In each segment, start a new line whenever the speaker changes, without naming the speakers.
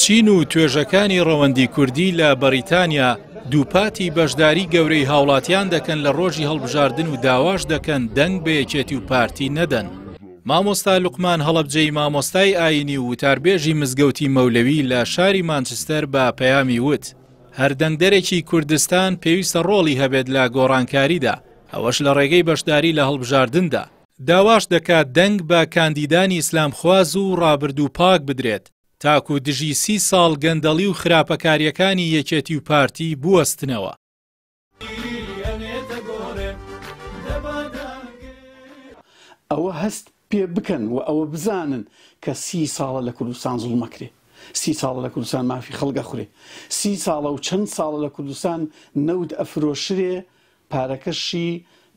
چین و توێژەکانی ڕەوەندی کوردی لە بەڕیتانیا دووپاتی بەشداری گەورەی هاوڵاتیان دەکەن لە ڕۆژی هەڵبژاردن و داواش دەکەن دەنگ بە یەکێتی و پارتی نەدەن. مامۆستا لوقمان هەڵەبجەیی مامۆستای ئایینی و وتاربێژی مزگەوتی مەولەوی لە شاری مانچستەر بە پەیامی وت، هەر دەنگدەرێکی کوردستان پێویستە ڕۆڵی هەبێت لە گۆڕانکاریدا، ئەوەش لە ڕێگەی بەشداری لە هەڵبژاردندا. داواش دەکات دەنگ بە کاندیدانی ئیسلامخواز و ڕابردوو پاک بدرێت، تاکو دژی سی ساڵ گەندەڵی و خراپەکارییەکانی یەکێتی و پارتی بوەستنەوە.
ئەوە هەست پێ بکەن و ئەوە بزانن کە سی ساڵە لە کوردستان زوڵم ئەکرێ، سی ساڵە لە کوردستان مافی خەڵک ئەخورێ، سی ساڵە و چەند ساڵە لە کوردستان نەوت ئەفرۆشرێ پارەکەشی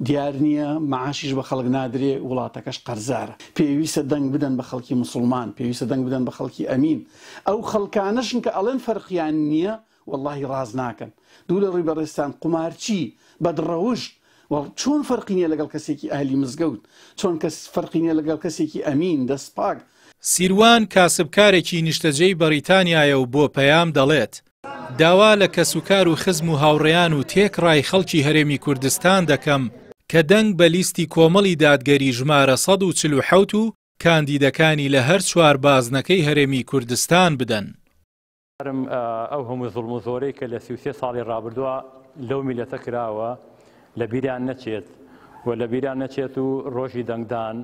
دیار نییە، مەعاشیش بە خەڵک نادرێ، وڵاتەکەش قەرزارە. پێویستە دەنگ بدەن بە خەڵکی موسڵمان، پێویستە دەنگ بدەن بە خەڵکی ئەمین. ئەو خەڵکانەشن کە ئەڵێن فەرقیان نییە، وەڵاهی ڕاست ناکەن. دوو لە ڕووی بەڕێزتان قومارچی، بەدڕەوشت، وە چۆن فەرقی نییە لەگەڵ کەسێکی ئەهلی مزگەوت، چۆن کەس فەرقی نییە لەگەڵ کەسێکی ئەمین، دەست پاک.
سیروان کاسبکارێکی نیشتەجێی بەڕیتانیایە و بۆ پەیام دەڵێت، داوا لە کەسوکار و خزم و هاوڕێیان و تێکڕای خەڵکی هەرێمی کوردستان دەکەم کە دەنگ بە لیستی کۆمەڵی دادگەری ژمارە 147 و کاندیدەکانی لە هەر چوار بازنەکەی هەرێمی کوردستان بدەن.
ئەو هەموو زوڵم و زۆرەی کە لە 33 ساڵی ڕابردووە لەو میلەتە کراوە لە بیریان نەچێت و لە بیریان نەچێت و ڕۆژی دەنگدان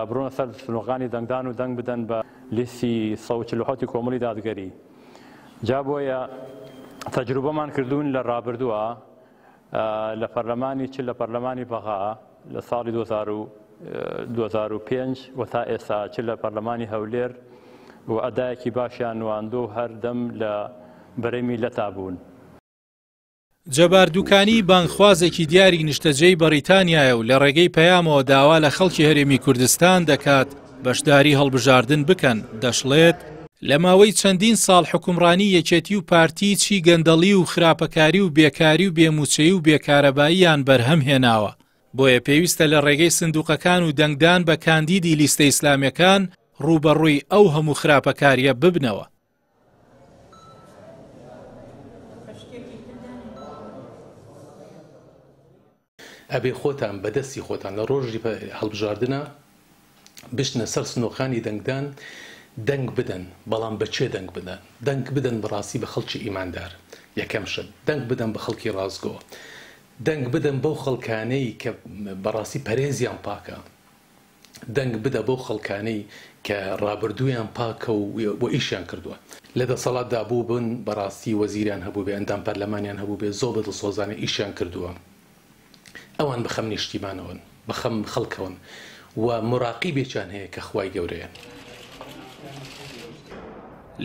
بڕۆنە سەر سنوقانی دەنگدان و دەنگ بدەن بە لیستی 147 کۆمەڵی دادگەری. جا بۆیە تەجروبەمان کردوون لە ڕابردووە لە پەرلەمانی چ لە پەرلەمانی بەغا لە ساڵی 2005 و تا ئێستا چ لە پەرلەمانی هەولێر و ئەدایەکی باشیان نواندووە و هەردەم لە بەرەی میللەتا بوون.
جەبار دوکانی بانگخوازێکی دیاری نیشتەجێی بەڕیتانیایە و لە ڕێگەی پەیامەوە داوا لە خەڵکی هەرێمی کوردستان دەکات بەشداری هەڵبژاردن بکەن، دەشڵێت، لە ماوەی چەندین ساڵ حوکمڕانی یەکێتی و پارتی چی گەندەڵی و خراپەکاری و بێکاری و بێ مووچەیی و بێ کارەباییان بەرهەم هێناوە، بۆیە پێویستە لە ڕێگەی سندوقەکان و دەنگدان بە کاندیدی لیستە ئیسلامیەکان ڕووبەڕووی ئەو هەموو خراپەکاریە ببنەوە.
ئەبێ خۆتان بە دەستی خۆتان لە ڕۆژی هەڵبژاردنا بچنە سەر سنوقانی دەنگدان دەنگ بدەن بەڵام بە کێ دەنگ بدەن دەنگ بدەن بەڕاستی بە خەڵکی ئیماندار یەکەم شت دەنگ بدەن بە خەڵکی ڕاستگۆ دەنگ بدەن بەو خەڵکانەی کە بەڕاستی پەرێزیان پاکە دەنگ بدە بەو خەڵکانەی کە ڕابردوویان پاکە و ئیشیان کردووە. لە دەسەڵاتدا بووبن بەڕاستی وەزیریان هەبووبێ ئەندام پەرلەمانیان هەبووبێ زۆر بە دڵسۆزانە ئیشیان کردووە ئەوان بە خەم نیشتیمانەوەن بە خەم خەڵکەوەن و موراقیبێکیان هەیە کە خوای گەورەیە.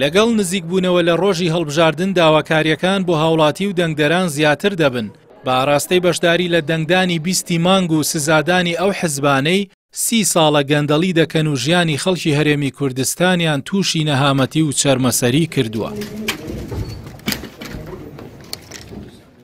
لەگەڵ نزیکبوونەوە لە ڕۆژی هەڵبژاردن داواکارییەکان بۆ هاوڵاتی و دەنگدەران زیاتر دەبن بە ئاراستەی بەشداری لە دەنگدانی بیستی مانگ و سزادانی ئەو حزبانەی سی ساڵە گەندەڵی دەکەن و ژیانی خەڵکی هەرێمی کوردستانیان تووشی نەهامەتی و چەرمەسەری کردووە.